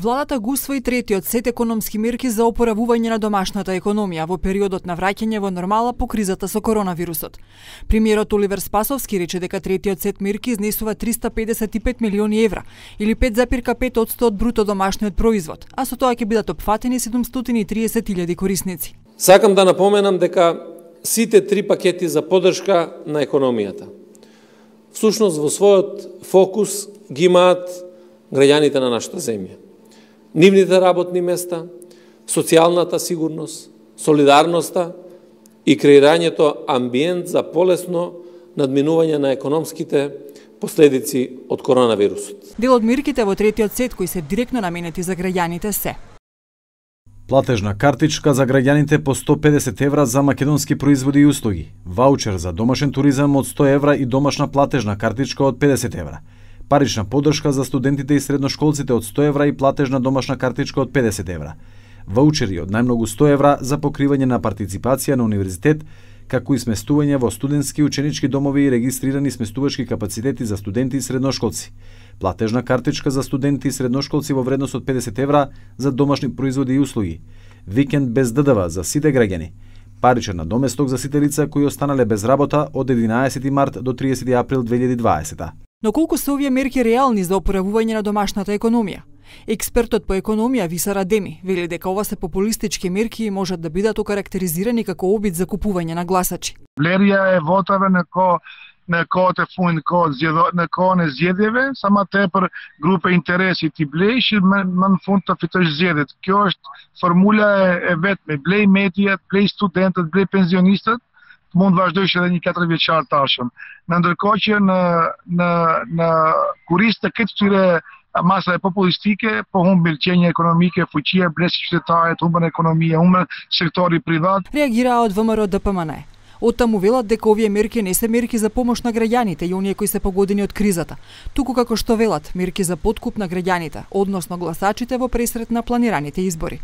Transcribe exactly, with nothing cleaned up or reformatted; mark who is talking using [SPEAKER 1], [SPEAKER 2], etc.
[SPEAKER 1] Владата го усвои третиот сет економски мерки за опоравување на домашната економија во периодот на враќање во нормала по кризата со коронавирусот. Премиерот Оливер Спасовски рече дека третиот сет мерки изнесува триста педесет и пет милиони евра или пет запир пет одсто од бруто домашниот производ, а со тоа ќе бидат опфатени седумстотини и триесет илјади корисници.
[SPEAKER 2] Сакам да напоменам дека сите три пакети за поддршка на економијата всушност во својот фокус ги имаат граѓаните на нашата земја. Нивните работни места, социјалната сигурност, солидарноста и креирањето амбиент за полесно надминување на економските последици од коронавирусот.
[SPEAKER 1] Дел од мерките во третиот сет кои се директно наменети за граѓаните се:
[SPEAKER 3] платежна картичка за граѓаните по сто педесет евра за македонски производи и услуги, ваучер за домашен туризам од сто евра и домашна платежна картичка од педесет евра, парична поддршка за студентите и средношколците од сто евра и платежна домашна картичка од педесет евра, ваучери од најмногу сто евра за покривање на партиципација на универзитет, како и сместување во студентски ученички домови и регистрирани сместувачки капацитети за студенти и средношколци, платежна картичка за студенти и средношколци во вредност од педесет евра за домашни производи и услуги, викенд без Д Д В за сите граѓани, паричен надоместок за сите лица кои останале без работа од единаесети март до триесети април две илјади и дваесета.
[SPEAKER 1] Но колку се овие мерки реални за опоравување на домашната економија? Експертот по економија Виса Радеми вели дека ова се популистички мерки и можат да бидат окарактеризирани како обид за купување на гласачи.
[SPEAKER 4] Лерија е вотаве на ко на ко те фуин ко зједо на ко не зједеве, сама тепер група интереси ти блеиш и ман фунта фитош зједет. Kjo është формула е, е ветме, блеј медијат, блеј студентот, блеј пензионистот, mund vazhdojsh edhe një katër vjeçar tashëm. Në ndërkohë që në në në kurisë të këtë këtyre masa populistike, po humbin qenja ekonomike, fuqia, blesi qytetarët, humbën ekonomia, humbën sektori privat.
[SPEAKER 1] Реагира од В М Р Д П М Н. Оттаму велат дека овие мерки не се мерки за помош на граѓаните и оние кои се погодени од кризата, туку како што велат, мерки за подкуп на граѓаните, односно гласачите во пресрет на планираните избори.